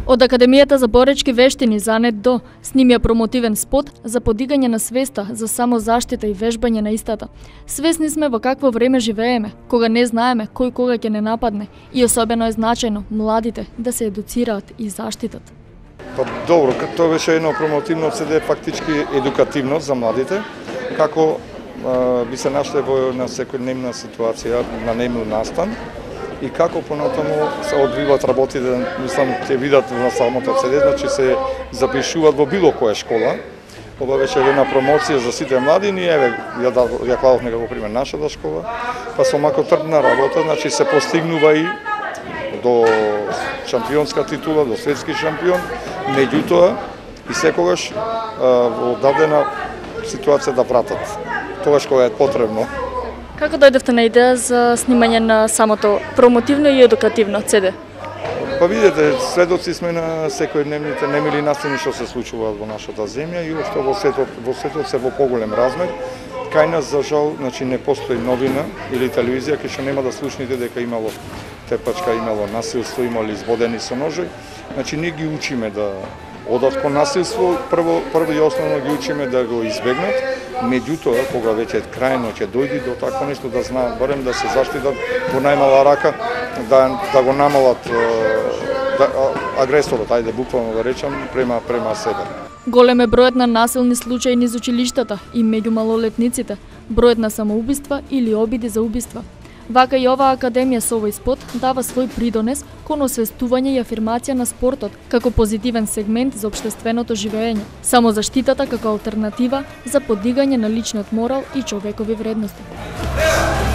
Од Академијата за боречки вештини за НЕД ДО снимија промотивен спот за подигање на свеста за самозаштита и вежбање на истата. Свесни сме во какво време живееме, кога не знаеме кој кога ќе не нападне и особено е значајно младите да се едуцираат и заштитат. Па добро, тоа беше едно промотивно CD, фактички едукативно за младите, како би се нашле во една секојдневна ситуација на немил настан и како понатаму се одвиваат работите, мислам, ќе видат на самото CD, значи се запишуваат во било која школа. Ова беше една промоција за сите млади, и еве, ја кладов некако пример нашата школа, па со мако трдна работа, значи се постигнува и до шампионска титула, до светски шампион, меѓутоа и секогаш во дадена ситуација да пратат. Тогаш кога е потребно. Како дојдовте на идеја за снимање на самото промотивно и едукативно CD? Па видите, сведоци сме на секојдневните немили настани што се случуваат во нашата земја и што во светот се во поголем размер. Кај нас, за жал, значи не постои новина или телевизија кај што нема да слушнете дека имало тепачка, имало насилство, имало избодени со ножови. Значи ние ги учиме да одат кон насилство, прво и основно ги учиме да го избегнат, меѓутоа кога веќе крајно ќе дојди до такво нешто да знаат барем да се заштитат во најмала рака, да го намалат агресорот, ајде буквално да речам, према себе. Голем е бројот на насилни случаи низ училиштата и меѓу малолетниците, бројот на самоубиства или обиди за убиства. Вака и оваа академија со овој спот дава свој придонес кон освестување и афирмација на спортот како позитивен сегмент за општественото живеење, самозаштитата како алтернатива за подигање на личниот морал и човекови вредности.